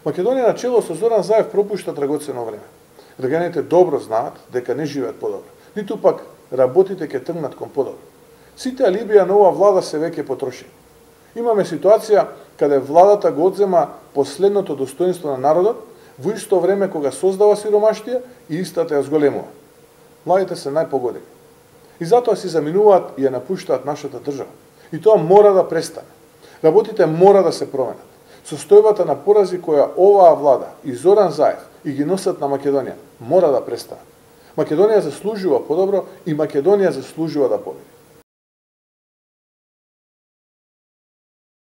Македонија на чело со Зоран Заев пропушта драгоцено време. Граѓаните добро знаат дека не живеат подобро, ниту пак работите ќе тргнат кон подобро. Сите алибија на ова влада се веќе потрошени. Имаме ситуација каде владата го одзема последното достоинство на народот во исто време кога создава сиромаштија и истата ја зголемува. Младите се најпогодени. И затоа си заминуваат и ја напуштаат нашата држава. И тоа мора да престане. Работите мора да се променат. Состојбата на порази која оваа влада и Зоран Заев и ги носат на Македонија мора да престане. Македонија заслужува подобро и Македонија заслужува да победи.